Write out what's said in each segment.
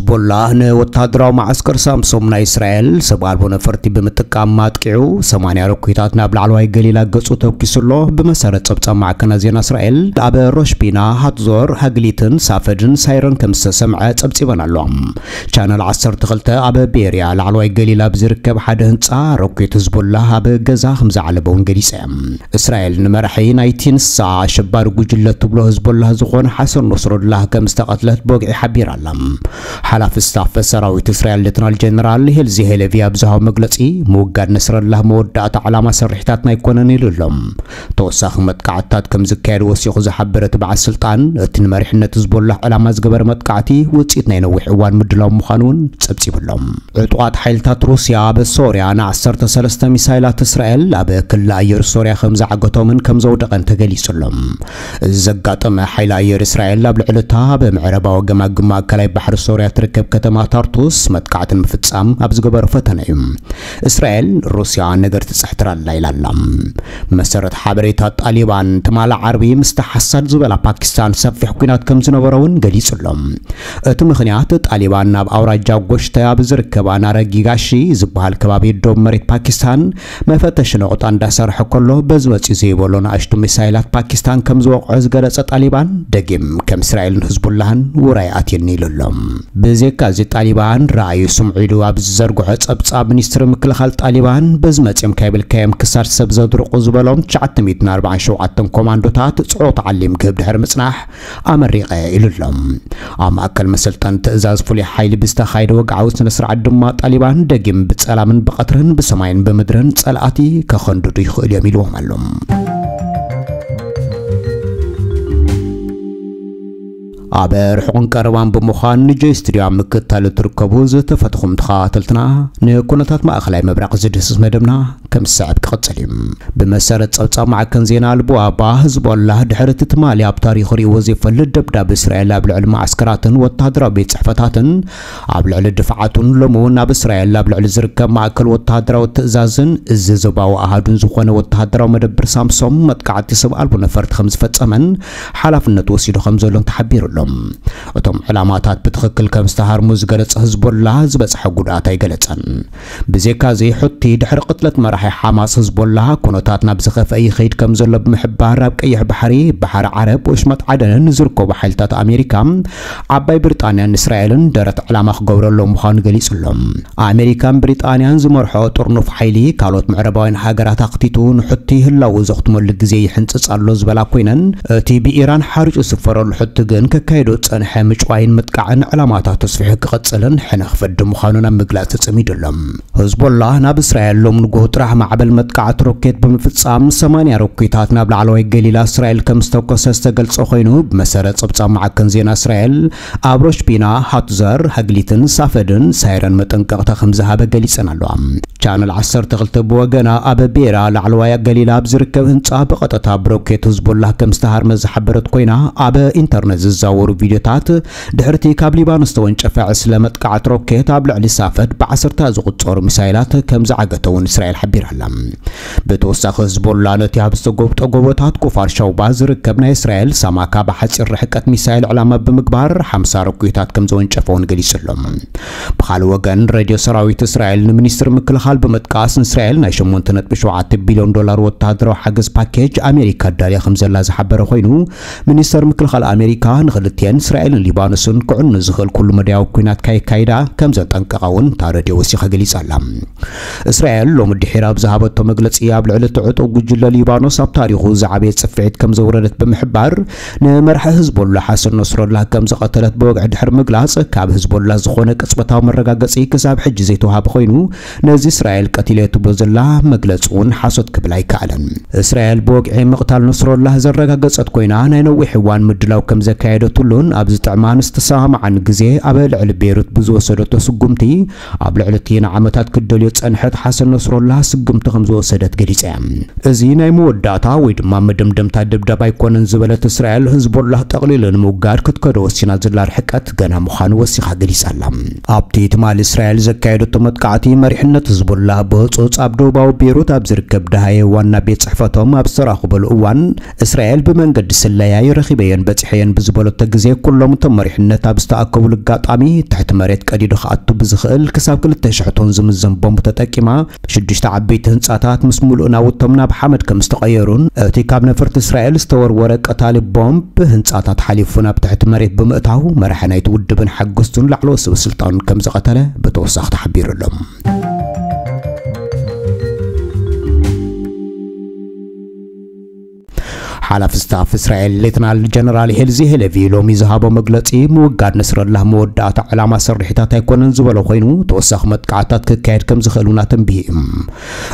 ሂዝቦላ ንወተሃደራዊ መዓስከር ሳምሶም ናይ እስራኤል ሰብ ኣልቦ ነፈርቲ ብምጥቃም ኣጥቂዑ፣ ሰማንያ ሮኬታት ናብ ላዕለዋይ ገሊላ ገጹ ተኩሱ ኣሎ። ብመሰረት ጸብጻብ ማዕከናት ዜና እስራኤል፣ ኣብ ሮሽቢና፣ ሃትዞር፣ ሃግሊትን ሳፈድን ሳይረን ከም ዝተሰምዐ ጸብጺበን ኣሎ። ቻነል ዓሰርተ ክልተ ኣብ ቤርያ ላዕለዋይ ገሊላ ኣብ ዝርከብ ሓደ ህንጻ ሮኬት ህዝቦላ ኣብ ገዛ ከም ዝዓለበ እውን ገሊጸ። እስራኤል ንመራሒ ናይቲ ንሳ ኣሸባሪ ጉጅለ ትብሎ ህዝቦላ ዝኾነ ሓሰን ኖስሮላህ ከም ዝተቐትለት ብወግዒ ሓቢራ ኣላ። ሓላፊ ስታፍ ሰራዊት እስራኤል ሌተናል ጀነራል ሄልዚ ሄለቪ ኣብ ዝሃቦ መግለጺ፣ ምውጋድ ነስረላህ መወዳእታ ዕላማ ስርሒታትና ኣይኮነን ኢሉ ኣሎ። ተወሳኺ መጥቃዕትታት ከም ዝካየድ ወሲኹ ዝሓበረ እቲ በዓል ስልጣን፣ እቲ ንመሪሕነት ህዝቦላህ ዕላማ ዝገበረ መጥቃዕቲ ውጽኢት ናይ ነዊሕ እዋን ምድላው ምዃኑ እውን ጸብጺቡ ኣሎ። ዕጡቓት ሓይልታት ሩስያ ኣብ ሶርያ ን ዓሰርተ ሰለስተ ሚሳይላት እስራኤል ኣብ ክሊ ኣየር ሶርያ ከም ዝዓገቶምን ከም ዘውደቐን ተገሊጹ ኣሎ። እዚ ዘጋጠመ፣ ሓይሊ ኣየር እስራኤል ኣብ ልዕሊ እታ ኣብ ምዕራባዊ ገማግም ማእከላይ ባሕሪ ሶርያ ትርከብ ከተማ ታርቱስ መጥቃዕቲ ንምፍጻም ኣብ ዝገበሮ ፈተነ እዩ። እስራኤል፣ ሩስያ ነገር ትጽሕትር ኣላ ኢላ ኣላ። መሰረት ሓበሬታ ጣሊባን፣ ትማሊ ዓርቢ ምስታ ሓሳድ ዝበላ ፓኪስታን ሰፊሕ ኲናት ከም ዝነበሮ እውን ገሊጹ ኣሎ። እቲ ምኽንያት፣ ጣሊባን ናብ ኣውራጃ ጎሽተ ኣብ ዝርከባ ናረጊጋሺ ዝበሃል ከባቢ ዶብ መሬት ፓኪስታን መፈተሺ ነቑጣ እንዳሰርሐ ከሎ፣ በዚ መጺኡ ዘይበሎ ንኣሽቱ ሚሳይላት ፓኪስታን ከም ዝወቕዖ ዝገለጸ ጣሊባን፣ ደጊም ከም እስራኤልን ህዝቡላህን ውራይ ኣትየኒ ኢሉ ኣሎ። ብዘይካ እዚ፣ ጣሊባን ረኣዩ ስምዑ ኢሉ ኣብ ዝዘርግሖ ጸብጻብ፣ ሚኒስትሪ ምክልኻል ጣሊባን፣ በዚ መጺኦም ካይብልካዮም ክሳድ ሰብ ዘድርቑ ዝበሎም ትሽዓተ ሚእትን ኣርባዓን ሸውዓተን ኮማንዶታት ጽዑቕ ተዓሊም ክህብ ድሕሪ ምጽናሕ፣ ኣመሪቐ ኢሉ ኣሎ። ኣብ ማእከል መሰልጠኒ ትእዛዝ ፍሉይ ሓይሊ ብዝተኻየደ ወግዓዊ ስነ ስርዓት ድማ፣ ጣሊባን ደጊም ብጸላምን ብቐትርን ብሰማይን ብምድርን ጸላእቲ ከኸንድዱ ይኽእሉ እዮም ኢልዎም ኣሎ። ኣብ ርሑቕን ቀረባን ብምዃን ንጆይ ስቱድዮ ኣብ ምክትታል እትርከቡ ዝተፈትኹም ተኸታተልትና፣ ንኩነታት ማእኸላይ ምብራቕ ዝድህስስ መደብና ከም ዝስዕብ ክቕጽል እዩ። ብመሰረት ጸብጻብ ማዕከን ዜና ኣልቡኣባ፣ ህዝቦላህ ድሕሪ እቲ ትማሊ ኣብ ታሪኹ ርእይዎ ዘይፈልጥ ደብዳብ እስራኤል ኣብ ልዕሊ መዓስከራትን ወተሃደራዊ ቤት ጽሕፈታትን፣ ኣብ ልዕሊ ድፍዓቱን ሎሚ እውን ኣብ እስራኤል ኣብ ልዕሊ ዝርከብ ማእከል ወተሃደራዊ ትእዛዝን እዚ ዞባዊ ኣሃዱን ዝኾነ ወተሃደራዊ መደብር ሳምሶም መጥቃዕቲ ሰብ ኣልቦ ነፈርቲ ከም ዝፈጸመን ሓላፍነት ወሲዱ ከም ዘሎን ተሓቢሩ ኣሎ። እቶም ዕላማታት ብትኽክል ከም ዝተሃርሙ ዝገለጸ ህዝቦላህ፣ ዝበጽሐ ጉድኣት ኣይገለጸን። ብዘይካዚ፣ ሑቲ ድሕሪ ቅትለት መራሒ ሓማስ ህዝቦላህ፣ ኩነታት ናብ ዝኸፍአ ይኸይድ ከም ዘሎ ብምሕባር፣ ኣብ ቀይሕ ባሕሪ፣ ባሕሪ ዓረብ፣ ወሽመጥ ዓደንን ዝርከቡ ሓይልታት ኣሜሪካ፣ ዓባይ ብሪጣንያን እስራኤልን ደረት ዕላማ ክገብረሎም ምዃኑ ገሊጹ ኣሎ። ኣሜሪካን ብሪጣንያን ዝመርሖ ጥርኑፍ ሓይሊ፣ ካልኦት ምዕራባውያን ሃገራት ኣኽቲቱ ንሑቲ ህላው ዘኽትመሉ ግዜ ይሕንጽጽ ኣሎ ዝበላ ኮይነን፣ እቲ ብኢራን ሓሪጩ ዝስፈረሉ ሑቲ ግን ከካይዶ ዝጸንሐ ምጭዋይን ምጥቃዕን ዕላማታት ተስፊሑ ክቕጽልን ሕነ ክፈዲ ምዃኑን ኣብ ምግላጽ ተጸሚዱ ኣሎ። ህዝቦላህ ናብ እስራኤል ሎም ንጎሆ ጥራሕ ማዕበል መጥቃዕቲ ሮኬት ብምፍጻም፣ ሰማንያ ሮኬታት ናብ ላዕለዋይ ገሊላ እስራኤል ከም ዝተኮሰ ዝተገልጸ ኮይኑ፣ ብመሰረት ጸብጻብ ማዕከን ዜና እስራኤል፣ ኣብ ሮሽቢና፣ ሃትዘር፣ ሃግሊትን ሳፈድን ሳይረን መጠንቀቕታ ከም ዝሃበ ገሊጸን ኣለዋ። ቻነል ዓሰርተ ክልተ ብወገና፣ ኣብ ቤራ ላዕለዋይ ገሊላ ኣብ ዝርከብ ህንጻ ብቐጥታ ብሮኬት ህዝቦላህ ከም ዝተሃርመ ዝሓበረት ኮይና፣ ኣብ ኢንተርነት ዝዛወሩ ቪድዮታት፣ ድሕርቲ ካብ ሊባኖስ ተወንጨፈ ዕስለ መጥቃዕቲ ሮኬት ኣብ ልዕሊ ሳፈድ ብዓሰርታ ዝቑጸሩ ሚሳይላት ከም ዝዓገተ እውን እስራኤል ሓቢራ ኣላ። ብተወሳኺ፣ ህዝቦላ ነቲ ኣብ ዝተጎብጠ ጎቦታት ኩፋር ሻውባ ዝርከብ ናይ እስራኤል ሳማካ ብሓጺር ርሕቀት ሚሳይል ዕላማ ብምግባር ሓምሳ ሮኬታት ከም ዘወንጨፈ እውን ገሊጹ ኣሎ። ብኻልእ ወገን፣ ሬድዮ ሰራዊት እስራኤል ንሚኒስትሪ ምክልኻል ብምጥቃስ፣ ንእስራኤል ናይ ሸሞንተ ነጥቢ ሸውዓተ ቢልዮን ዶላር ወተሃደራዊ ሓገዝ ፓኬጅ ኣሜሪካ ኣዳልያ ከም ዘላ ዝሓበረ ኮይኑ፣ ሚኒስተር ምክልኻል ኣሜሪካ፣ ንኽልቲኤን እስራኤልን ሊባኖስን ክዕኑ ዝኽእል ኩሉ መዳያዊ ኲናት ካይካይዳ ከም ዘጠንቀቓ እውን እታ ሬድዮ ወሲኻ ገሊጻ ኣላ። እስራኤል ሎሚ ድሒር ኣብ ዝሃበቶ መግለጺ፣ ኣብ ልዕሊ እቲ ዕጡቕ ጉጅለ ሊባኖስ ኣብ ታሪኹ ዝዓበየ ጽፍዒት ከም ዘውረደት ብምሕባር፣ ንመራሒ ህዝቦላ ሓሰን ኖስረላህ ከም ዝቐተለት ብወግዒ ድሕሪ ምግላጽ፣ ካብ ህዝቦላ ዝኾነ ቅጽበታዊ መረጋገጺ ክሳብ ሕጂ ዘይተዋሃበ ኮይኑ፣ ነዚ እስራኤል ቀቲለ ትብሎ ዘላ መግለጺ እውን ሓሶት ክብል ኣይከኣለን። እስራኤል ብወግዒ ምቕታል ኖስረላህ ዘረጋገጸት ኮይና፣ ናይ ነዊሕ እዋን ምድላው ከም ዘካየደትሉን ኣብ ዝጥዕማን ዝተሰማማዓን ግዜ ኣብ ልዕሊ ቤይሩት ብዝወሰደቶ ስጉምቲ፣ ኣብ ልዕሊ እቲ ንዓመታት ክትደልዮ ዝጸንሐት ሓሰን ኖስረላህ ስጉምቲ ከም ዝወሰደት ገሊጻ እያ። እዚ ናይ መወዳእታ ወይ ድማ መደምደምታ ደብዳብ ኣይኮነን ዝበለት እስራኤል፣ ህዝቦላህ ጠቕሊሉ ንምውጋድ ክትከዶ ወሲና ዘላ ርሕቀት ገና ምዃኑ ወሲኻ ገሊጻ ኣላ። ኣብቲ ትማሊ እስራኤል ዘካየደቶ መጥቃዕቲ፣ መሪሕነት ህዝቦላህ ብህጹጽ ኣብ ደቡባዊ ቤይሩት ኣብ ዝርከብ ደሃየ ዋና ቤት ጽሕፈቶም ኣብ ዝተራኸበሉ እዋን፣ እስራኤል ብመንገዲ ስለያ ረኺበየን በጺሐየን ብዝበለቶ ግዜ፣ ኩሎም እቶም መሪሕነት ኣብ ዝተኣከቡሉ ኣጋጣሚ፣ ትሕቲ መሬት ቀዲዱ ክኣቱ ብዝኽእል ክሳብ ክልተ ሽሕ ቶን ዝምዘን ቦምብ ተጠቂማ፣ ሽዱሽተ ዓበይቲ ህንጻታት ምስ ምሉእ ናውቶም ናብ ሓመድ ከም ዝተቐየሩን፣ እቲ ካብ ነፈርቲ እስራኤል ዝተወርወረ ቀታሊ ቦምብ ህንጻታት ሓሊፉ ናብ ትሕቲ መሬት ብምእታው፣ መራሒ ናይቲ ውድብን ሓገዝቱን ላዕለዎት ሰበስልጣኑን ከም ዝቐተለ ብተወሳኺ ተሓቢሩ ኣሎ። ሓላፊ ስታፍ እስራኤል ሌተናል ጀነራል ሄልዚ ሄለቪ ሎሚ ዝሃቦ መግለጺ፣ ምውጋድ ነስረላህ መወዳእታ ዕላማ ስርሒታት ኣይኮነን ዝበሎ ኮይኑ፣ ተወሳኺ መጥቃዕታት ክካየድ ከም ዝኽእል እውን ኣተንቢሁ እዩ።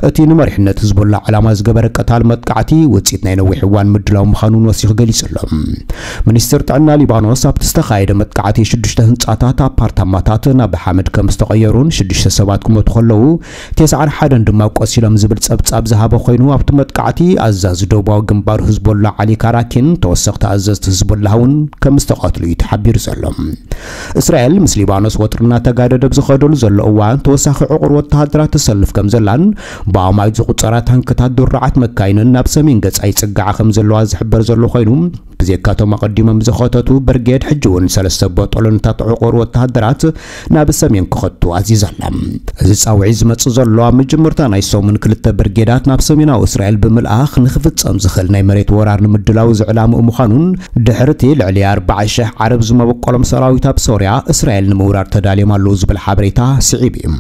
እቲ ንመሪሕነት ህዝቦላ ዕላማ ዝገበረ ቀታሊ መጥቃዕቲ ውጽኢት ናይ ነዊሕ እዋን ምድላው ምዃኑን ወሲኹ ገሊጹ ኣሎ። ሚኒስትር ጥዕና ሊባኖስ ኣብቲ ዝተኻየደ መጥቃዕቲ ሽዱሽተ ህንጻታት፣ ኣፓርታማታት ናብ ሓመድ ከም ዝተቐየሩን ሽዱሽተ ሰባት ክሞቱ ከለዉ፣ ተስዓን ሓደን ድማ ቆሲሎም ዝብል ጸብጻብ ዝሃበ ኮይኑ፣ ኣብቲ መጥቃዕቲ ኣዛዚ ደቡባዊ ግንባር ህዝቦላ ዓሊ ካራኪን ተወሰኽቲ ኣዘዝቲ ህዝቦላ እውን ከም ዝተቐትሉ እዩ ተሓቢሩ ዘሎ። እስራኤል ምስ ሊባኖስ ወጥሪ እናተጋደደ ኣብ ዝኸደሉ ዘሎ እዋን፣ ተወሳኺ ዕቑር ወተሃደራት ተሰልፍ ከም ዘላን ብኣማኢት ዝቑጸራ ታንክታት ድሩዓት መካይንን ናብ ሰሜን ገጻ ይጽግዓ ከም ዘለዋ ዝሕበር ዘሎ ኮይኑ፣ ብዘይካቶም ኣቐዲሞም ዝኸተቱ ብርጌድ፣ ሕጂ እውን ሰለስተ ቦጦሎንታት ዕቑር ወተሃደራት ናብ ሰሜን ክኸቱ ኣዚዛ ኣላ። እዚ ጻውዒት ዝመጽእ ዘሎ ኣብ መጀመርታ ናይ ሰሙን ክልተ ብርጌዳት ናብ ሰሜናዊ እስራኤል ብምልኣኽ ንኽፍጸም ዝኽእል ናይ መሬት ወራር ንምድላው ዝዕላምኡ ምዃኑን፣ ድሕርቲ ልዕሊ ኣርባዓ ሽሕ ዓረብ ዝመበቆሎም ሰራዊት ኣብ ሶርያ እስራኤል ንምውራር ተዳልዮም ኣለዉ ዝብል ሓበሬታ ስዒቡ እዩ።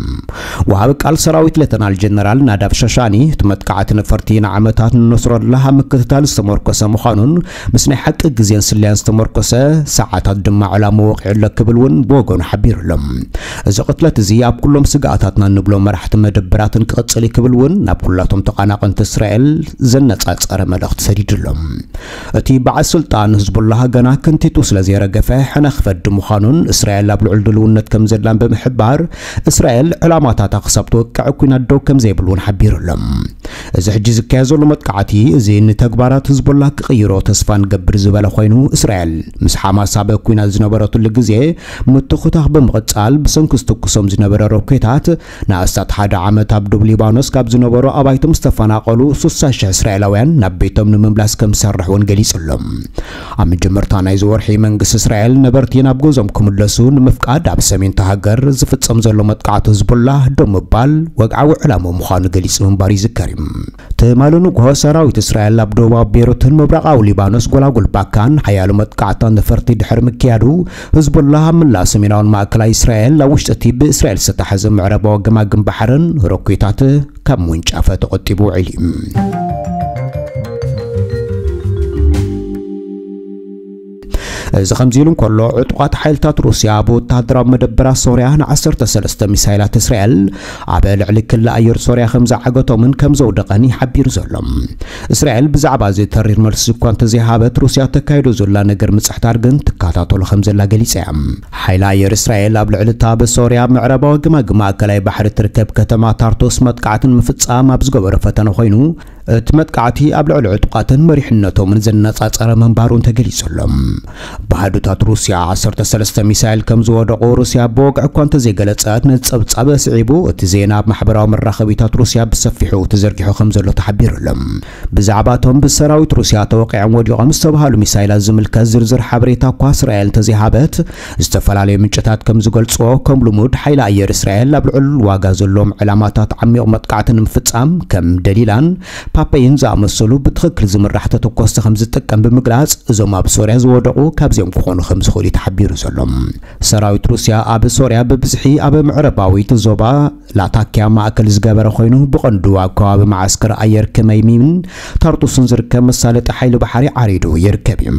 ወሃቢ ቃል ሰራዊት ሌተናል ጀነራል ናዳብ ሻሻኒ፣ እቲ መጥቃዕቲ ነፈርቲ ንዓመታት ንነስረላህ ኣብ ምክትታል ዝተመርኮሰ ምዃኑን፣ ምስ ናይ ሓቂ ግዜን ስለያን ዝተመርኮሰ፣ ሰዓታት ድማ ዕላማ ወቒዑ ኣሎ ክብል እውን ብወገኑ ሓቢሩ ኣሎ። እዚ ቅትለት እዚ ኣብ ኩሎም ስግኣታትና እንብሎም መራሕቲ መደበራትን ክቕጽል እዩ ክብል እውን ናብ ኩላቶም ተቓናቐንቲ እስራኤል ዘነጻጸረ መልእኽቲ ሰዲዱ ኣሎ። እቲ በዓል ስልጣን ህዝቡላህ ገና ክንቲቱ ስለ ዘይረገፈ ሕነ ክፈዲ ምዃኑን እስራኤል ኣብ ልዑል ድልውነት ከም ዘላን ብምሕባር፣ እስራኤል ዕላማታታ ክሳብ ትወቅዕ ኲናት ደው ከም ዘይብል እውን ሓቢሩ ኣሎ። እዚ ሕጂ ዝካየድ ዘሎ መጥቃዕቲ እዚ ንተግባራት ህዝቦላ ክቕይሮ ተስፋ ንገብር ዝበለ ኮይኑ፣ እስራኤል ምስ ሓማስ ኣብ ኲናት ዝነበረትሉ ግዜ ምትኹታኽ ብምቕጻል ብሰንኪ ዝትኩሶም ዝነበረ ሮኬታት ንኣስታት ሓደ ዓመት ኣብ ዶብ ሊባኖስ ካብ ዝነበሩ ኣባይቶም ዝተፈናቐሉ ስሳ ሽሕ እስራኤላውያን ናብ ቤቶም ንምምላስ ከም ዝሰርሕ እውን ገሊጹ ኣሎ። ኣብ መጀመርታ ናይዚ ወርሒ መንግስቲ እስራኤል ነበርቲ ናብ ገዝኦም ክምለሱ ንምፍቃድ ኣብ ሰሜን እታ ሃገር ዝፍጸም ዘሎ መጥቃዕቲ ህዝቦላ ደው ምባል ወግዓዊ ዕላምኡ ምዃኑ ገሊጹ ምንባሩ ይዝከር እዩ። ትማሊ ንግሆ ሰራዊት እስራኤል ኣብ ደቡባዊ ቤይሩትን ምብራቓዊ ሊባኖስ ጎላጉል ባካን ሓያሎ መጥቃዕትታት ነፈርቲ ድሕሪ ምክያዱ፣ ህዝቦላ ኣብ መላእ ሰሜናውን ማእከላይ እስራኤል ኣብ ውሽጢ እቲ ብእስራኤል ዝተታሕዘ ምዕራባዊ ገማግም ባሕርን ሮኬታት ካብ ምውንጫፈ ተቖጢቡ ውዒሉ እዩ። እዚ ከምዚ ኢሉ እንከሎ፣ ዕጡቓት ሓይልታት ሩስያ ኣብ ወተሃደራዊ መደበራት ሶርያ ንዓሰርተ ሰለስተ ሚሳይላት እስራኤል ኣብ ልዕሊ ክሊ ኣየር ሶርያ ከም ዝዓገቶምን ከም ዘውደቐን እዩ ሓቢሩ ዘሎ። እስራኤል ብዛዕባ እዚ ተሪር መልሲ እኳ እንተዘይሃበት፣ ሩስያ ተካይዶ ዘላ ነገር ምጽሕታር ግን ትከታተሎ ከም ዘላ ገሊጻ እያ። ሓይሊ ኣየር እስራኤል ኣብ ልዕሊ እታ ብሶርያ ምዕራባዊ ግማግም ማእከላይ ባሕሪ ትርከብ ከተማ ታርቶስ መጥቃዕቲ ንምፍጻም ኣብ ዝገበሮ ፈተነ ኮይኑ፣ እቲ መጥቃዕቲ ኣብ ልዕሊ ዕጡቓትን መሪሕነቶምን ዘነጻጸረ ምንባሩን ተገሊጹ ኣሎ። ብሃዱታት ሩስያ ዓሰርተ ሰለስተ ሚሳይል ከም ዝወደቑ ሩስያ ብወግዒ እኳ እንተዘይገለጸት፣ ነቲ ጸብጻብ ኣስዒቡ እቲ ዜና ኣብ ማሕበራዊ መራኸቢታት ሩስያ ብሰፊሑ ተዘርጊሑ ከም ዘሎ ተሓቢሩ ኣሎ። ብዛዕባ እቶም ብሰራዊት ሩስያ ተወቒዖም ወዲቖም ዝተባህሉ ሚሳይላት ዝምልከት ዝርዝር ሓበሬታ እኳ እስራኤል እንተዘይሃበት፣ ዝተፈላለዩ ምንጭታት ከም ዝገልጽዎ፣ ከም ልሙድ ሓይሊ ኣየር እስራኤል ኣብ ልዑል ዋጋ ዘለዎም ዕላማታት ዓሚቕ መጥቃዕቲ ንምፍጻም ከም ደሊላን ፓፔይን ዝኣመሰሉ ብትኽክል ዝምራሕ ተተኮስቲ ከም ዝጥቀም ብምግላጽ፣ እዞም ኣብ ሶርያ ዝወደቑ ካብዚኦም ክኾኑ ከም ዝኽእሉ እዩ ተሓቢሩ ዘሎ። ሰራዊት ሩስያ ኣብ ሶርያ ብብዝሒ ኣብ ምዕራባዊት ዞባ ላታኪያ ማእከል ዝገበረ ኮይኑ፣ ብቐንዱ ኣብ ከባቢ መዓስከር ኣየር ክመይሚምን ታርጡስን ዝርከብ መሳለጢ ሓይሊ ባሕሪ ዓሪዱ ይርከብ እዩ።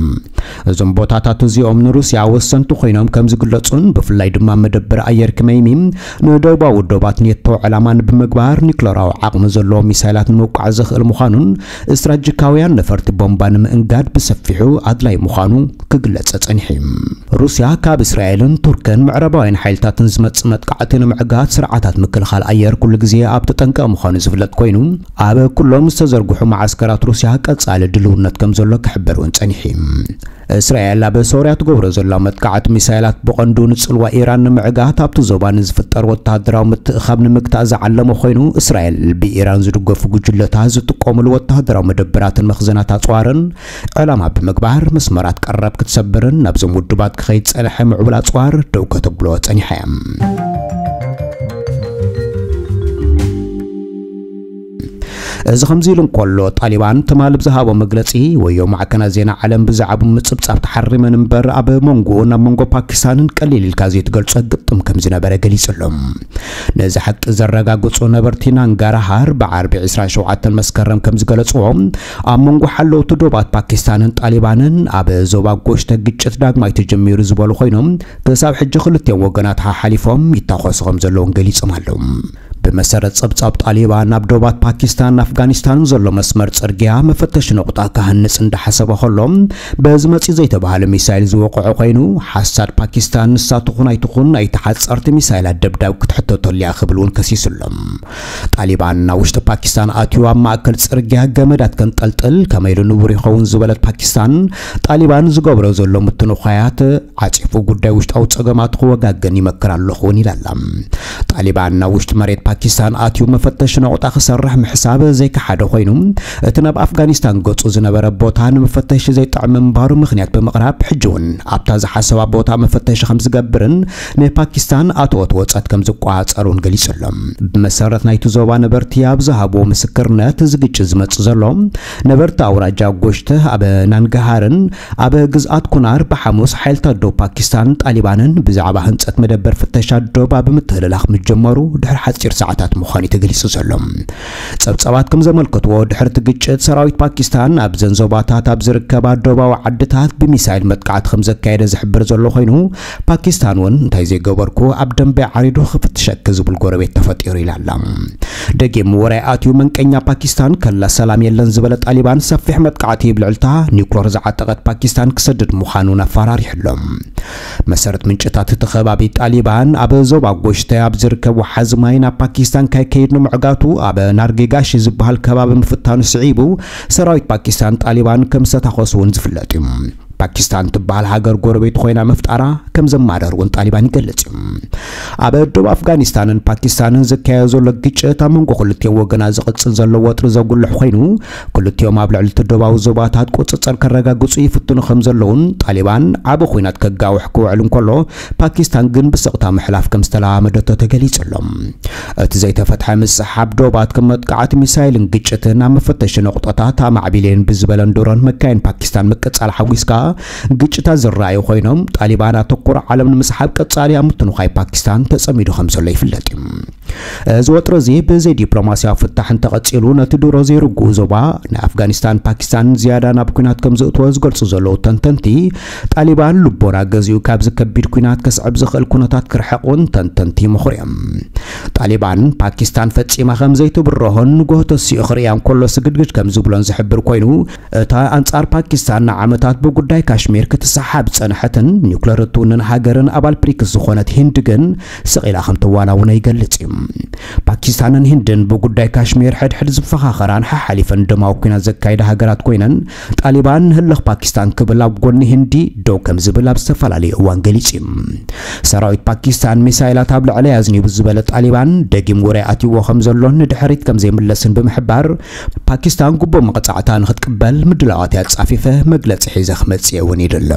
እዞም ቦታታት እዚኦም ንሩስያ ወሰንቲ ኮይኖም ከም ዝግለጹን፣ ብፍላይ ድማ መደበር ኣየር ክመይሚም ንደቡባዊ ዶባት ኔቶ ዕላማ ብምግባር ኒክለራዊ ዓቕሚ ዘለዎ ሚሳይላት ንምውቃዕ ዘኽእል ምዃኑን፣ ስትራቴጂካውያን ነፈርቲ ቦምባ ንምእንጋድ ብሰፊሑ ኣድላይ ምዃኑ ክግለጽ ጸኒሑ እዩ። ሩስያ ካብ እስራኤልን ቱርክን ምዕራባውያን ሓይልታትን ዝመጽእ መጥቃዕቲ ንምዕጋት ስርዓታት ምክልኻል ኣየር ኩሉ ግዜ ኣብ ተጠንቀቕ ምዃኑ ዝፍለጥ ኮይኑ፣ ኣብ ኩሎም ዝተዘርግሑ መዓስከራት ሩስያ ቀጻሊ ድልውነት ከም ዘሎ ክሕበር እውን ጸኒሑ እዩ። እስራኤል ኣብ ሶርያ ትገብሮ ዘላ መጥቃዕቲ ሚሳይላት ብቐንዱ ንጽልዋ ኢራን ንምዕጋት ኣብቲ ዞባ ንዝፍጠር ወተሃደራዊ ምትእኻብ ንምግታእ ዝዓለመ ኮይኑ፣ እስራኤል ብኢራን ዝድገፉ ጉጅለታት ዝጥቀሙሉ ወተሃደራዊ መደበራትን መኽዘናት ኣጽዋርን ዕላማ ብምግባር፣ መስመራት ቀረብ ክትሰብርን ናብዞም ውድባት ክኸይድ ዝጸንሐ ምዕቡል ኣጽዋር ደው ከተብሎ ጸኒሓ እያ። እዚ ከምዚ ኢሉ እንከሎ፣ ጣሊባን ትማል ብዝሃቦ መግለጺ፣ ወዮ ማዕከናት ዜና ዓለም ብዛዕባ ምጽብጻብ ተሓሪመን እምበር፣ ኣብ መንጎ፣ ናብ መንጎ ፓኪስታንን ቀሊል ኢልካ ዘይትገልጾ ግጥም ከም ዝነበረ ገሊጹ ኣሎ። ነዚ ሓቂ ዘረጋግጹ ነበርቲ ናንጋርሃር ብዓርቢ ዕስራን ሸውዓተን መስከረም ከም ዝገለጽዎ፣ ኣብ መንጎ ሓለውቲ ዶባት ፓኪስታንን ጣሊባንን ኣብ ዞባ ጎሽተ ግጭት ዳግማይ ተጀሚሩ ዝበሉ ኮይኖም፣ ክሳብ ሕጂ ክልቲኦም ወገናት ሓሓሊፎም ይታኾሱ ከም ዘለውን ገሊጾም ኣለዉ። ብመሰረት ጸብጻብ ጣሊባን፣ ኣብ ዶባት ፓኪስታን ኣፍጋኒስታን ዘሎ መስመር ጽርግያ መፈተሺ ነቑጣ ክሃንጽ እንዳሓሰበ ከሎ፣ በዚ መጺ ዘይተባህለ ሚሳይል ዝወቕዖ ኮይኑ፣ ሓሳድ ፓኪስታን ንሳ ትኹን ኣይትኹን ናይ ተሓጸርቲ ሚሳይላት ደብዳብ ክትሕተተሉ እያ ክብል እውን ከሲሱ ኣሎ። ጣሊባን ናብ ውሽጢ ፓኪስታን ኣትዩ ኣብ ማእከል ጽርግያ ገመዳት ከንጠልጥል ከመይ ኢሉ ንቡር ይኸውን ዝበለት ፓኪስታን፣ ጣሊባን ዝገብሮ ዘሎ ምትንዃያት ዓጺፉ ጉዳይ ውሽጣዊ ጸገማት ክወጋገን ይመክር ኣለኹ እውን ኢላ ኣላ። ጣሊባን ናብ ውሽጢ መሬት ፓኪስታን ኣትዩ መፈተሺ ነቑጣ ክሰርሕ ምሕሳብ ዘይከሓደ ኮይኑ፣ እቲ ናብ ኣፍጋኒስታን ገጹ ዝነበረ ቦታ ንመፈተሺ ዘይጥዕም ምንባሩ ምኽንያት ብምቕራብ፣ ሕጂ እውን ኣብታ ዝሓሰባ ቦታ መፈተሺ ከም ዝገብርን ንፓኪስታን ኣትወት ወጸት ከም ዝቆጻጸሩን ገሊጹ ኣሎ። ብመሰረት ናይቲ ዞባ ነበርቲ ኣብ ዝሃብዎ ምስክርነት፣ እዚ ግጭት ዝመጽእ ዘሎ ነበርቲ ኣውራጃ ጎሽተ ኣብ ናንጋሃርን ኣብ ግዝኣት ኩናር ብሓሙስ ሓይልታት ዶብ ፓኪስታን ጣሊባንን ብዛዕባ ህንጸት መደበር ፍተሻ ዶብ ኣብ ምትህልላኽ ምጀመሩ ድሕሪ ሓጺር ሰዓታት ምዃኑ እዩ ተገሊጹ ዘሎ። ጸብጻባት ከም ዘመልከትዎ፣ ድሕሪ እቲ ግጭት ሰራዊት ፓኪስታን ኣብዘን ዞባታት ኣብ ዝርከባ ዶባዊ ዓድታት ብሚሳይል መጥቃዕቲ ከም ዘካየደ ዝሕብር ዘሎ ኮይኑ፣ ፓኪስታን እውን እንታይ ዘይገበርኩ ኣብ ደንበ ዓሪዱ ክፍትሸኪ ዝብል ጎረቤት ተፈጢሩ ኢላ ኣላ። ደጊም ወራይ ኣትዩ መንቀኛ ፓኪስታን ከላ ሰላም የለን ዝበለ ጣሊባን፣ ሰፊሕ መጥቃዕቲ ብልዕልታ ኒውክለር ዝዓጠቐት ፓኪስታን ክሰድድ ምዃኑን ኣፈራሪሑ ኣሎ። መሰረት ምንጭታት እቲ ከባቢ፣ ጣሊባን ኣብ ዞባ ጎሽተ ኣብ ዝርከብ ወሓዚ ማይ ናብ ፓኪስታን ከይከይድ ንምዕጋቱ ኣብ ናርጌጋሺ ዝበሃል ከባቢ ምፍታኑ ስዒቡ፣ ሰራዊት ፓኪስታን ጣሊባን ከም ዝተታኾሱ እውን ዝፍለጥ እዩ። ፓኪስታን ትበሃል ሃገር ጎረቤት ኮይና ምፍጣራ ከም ዘማረር እውን ጣሊባን ይገልጽ እዩ። ኣብ ደቡብ ኣፍጋኒስታንን ፓኪስታንን ዝካየድ ዘሎ ግጭት ኣብ መንጎ ክልቲኦም ወገናት ዝቕጽል ዘሎ ወጥሪ ዘጉልሕ ኮይኑ፣ ክልቲኦም ኣብ ልዕሊ እቲ ደቡባዊ ዞባታት ቁጽጽር ከረጋግጹ ይፍትኑ ከም ዘለውን፣ ጣሊባን ዓቢ ኲናት ከጋውሕ ክውዕል እንከሎ፣ ፓኪስታን ግን ብስቕታ ምሕላፍ ከም ዝተለማመደቶ ተገሊጹ ኣሎ። እቲ ዘይተፈትሐ ምስሓብ ዶባት ከም መጥቃዕቲ ሚሳይልን ግጭትን ኣብ መፈተሺ ነቑጣታት ኣማዕቢለን ብዝበለን ድሮን መካይን ፓኪስታን ምቅጻል ሓጒስካ፣ ግጭታት ዝረኣዩ ኮይኖም፣ ጣሊባን ኣተኩሮ ዓለም ንምስሓብ ቀጻሊ ኣብ ምትንዃይ ፓኪስታን ተጸሚዱ ከም ዘሎ ይፍለጥ እዩ። እዚ ወጥሪ እዚ ብዘይ ዲፕሎማስያዊ ፍታሕ እንተቐጺሉ፣ ነቲ ድሮ ዘይርግኡ ዞባ ናይ ኣፍጋኒስታን ፓኪስታን ዝያዳ ናብ ኲናት ከም ዝእትዎ ዝገልጹ ዘለዉ ተንተንቲ፣ ጣሊባን ልቦና ገዚኡ ካብዚ ከቢድ ኲናት ከስዕብ ዝኽእል ኩነታት ክርሕቕ እውን ተንተንቲ ይመኽሩ እዮም። ጣሊባን ፓኪስታን ፈጺማ ከም ዘይትብረሆን ንጎሆ ተሲኡ ክርእያ እንከሎ ስግድግድ ከም ዝብሎን ዝሕብር ኮይኑ፣ እታ ኣንጻር ፓኪስታን ንዓመታት ብጉዳይ ካሽሚር ክትሰሓብ ዝጸንሐትን ኒውክለር እትውንን ሃገርን ኣባል ብሪክስ ዝኾነት ሂንድ ግን ስቕ ኢላ ከም ትዋናውኖ ይገልጽ እዩ። ፓኪስታንን ሂንድን ብጉዳይ ካሽሚር ሕድሕድ ዝፈኻኸራን ሓሓሊፈን ደማዊ ኲናት ዘካይዳ ሃገራት ኮይነን፣ ጣሊባን ንህልኽ ፓኪስታን ክብል ኣብ ጎኒ ሂንዲ ደው ከም ዝብል ኣብ ዝተፈላለዩ እዋን ገሊጹ እዩ። ሰራዊት ፓኪስታን ሚሳይላት ኣብ ልዕለይ ኣዝኒቡ ዝበለ ጣሊባን፣ ደጊም ወራይ ኣትይዎ ከም ዘሎን ንድሕሪት ከም ዘይምለስን ብምሕባር፣ ፓኪስታን ግቡእ መቕጻዕታ ንኽትቅበል ምድላዋት እያ ኣጻፊፈ መግለጺ ሒዘ ክመጽእ እውን ይደለ።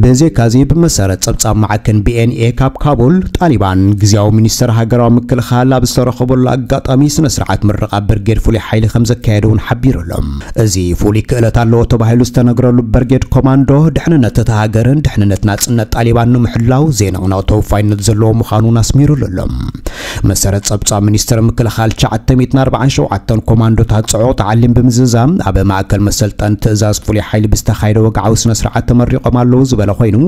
ብዘይካዚ፣ ብመሰረት ጸብጻብ ማዕከን ቢ ኤን ኤ ካብ ካቡል፣ ጣሊባን ግዝያዊ ሚኒስተር ሃገራዊ ምክልኻል ኣብ ዝተረኸበሉ ኣጋጣሚ ስነ ስርዓት ምርቓ ብርጌድ ፍሉይ ሓይሊ ከም ዘካየደ እውን ሓቢሩ ኣሎ። እዚ ፍሉይ ክእለት ኣለዎ ተባሂሉ ዝተነግረሉ ብርጌድ ኮማንዶ፣ ድሕንነት እታ ሃገርን ድሕንነት ናጽነት ጣሊባን ንምሕላው ዘይንቕነቕ ተወፋይነት ዘለዎ ምዃኑን ኣስሚሩሉ ኣሎ። መሰረት ጸብጻብ ሚኒስትር ምክልኻል፣ ትሽዓተ ሚእትን ኣርባዓን ሸውዓተን ኮማንዶታት ጽዑቕ ተዓሊም ብምዝዛም ኣብ ማእከል መሰልጠን ትእዛዝ ፍሉይ ሓይሊ ብዝተኻየደ ወግዓዊ ስነ ስርዓት ተመሪቖም ኣለዉ ዝበለ ኮይኑ፣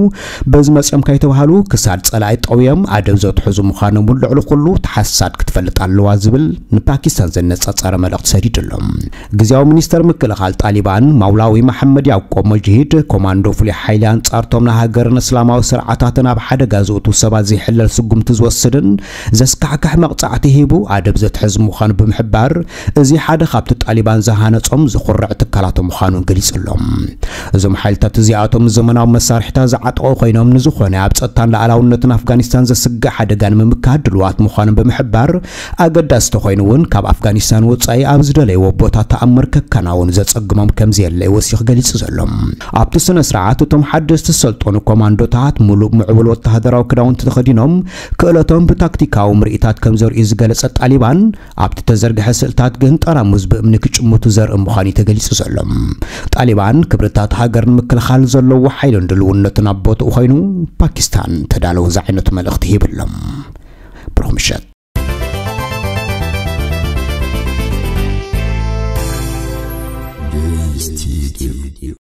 በዚ መጺኦም ከይተባህሉ ክሳድ ጸላኢ ጠውዮም ኣደብ ዘትሕዙ ምዃኖምን ልዕሊ ኩሉ ተሓሳድ ክትፈልጥ ኣለዋ ዝብል ንፓኪስታን ዘነጻጸረ መልእኽቲ ሰዲዱ ኣሎ። ግዝያዊ ሚኒስተር ምክልኻል ጣሊባን ማውላዊ መሓመድ ያዕቆብ መጅሂድ፣ ኮማንዶ ፍሉይ ሓይሊ ኣንጻርቶም ንሃገርን እስላማዊ ስርዓታትን ኣብ ሓደጋ ዘእቱ ሰባት ዘይሕለል ስጉምቲ ዝወስድን ዘስካሕክሕ መቕጻዕቲ ሂቡ ኣደብ ዘትሕዝ ምዃኑ ብምሕባር፣ እዚ ሓደ ካብቲ ጣሊባን ዝሃነጾም ዝኹርዕ ትካላት ምዃኑ ገሊጹ ኣሎ። እዞም ሓይልታት እዚኣቶም ዘመናዊ መሳርሒታት ዝዓጠቑ ኮይኖም፣ ንዝኾነ ኣብ ጸጥታን ሉዓላውነትን ኣፍጋኒስታን ዘስግእ ሓደጋ ንምምካት ድሉዋት ምዃኖም ብምሕባር፣ ኣገዳሲ ተኾይኑ እውን ካብ ኣፍጋኒስታን ወጻኢ ኣብ ዝደለይዎ ቦታ ተኣምር ከከናውኑ ዘጸግሞም ከም ዘየለ እዩ ወሲኹ ገሊጹ ዘሎ። ኣብቲ ስነ ስርዓት እቶም ሓደስቲ ዝሰልጠኑ ኮማንዶታት ሙሉእ ምዕቡል ወተሃደራዊ ክዳውንቲ ተኸዲኖም ክእለቶም ብታክቲካዊ ምርኢታት ከም ዘርእዩ ዝገለጸ ጣሊባን፣ ኣብቲ ተዘርግሐ ስእልታት ግን ጠራሙዝ ብእምኒ ክጭምቱ ዘርኢ ምዃኑ እዩ ተገሊጹ ዘሎ። ጣሊባን ክብርታት ሃገር ንምክልኻል ዘለዎ ሓይልን ድልውነትን ኣብ ቦትኡ ኮይኑ ፓኪስታን ተዳለዉ ዝዓይነቱ መልእኽቲ ሂቡ ኣሎ። ብሩኽ ምሸት።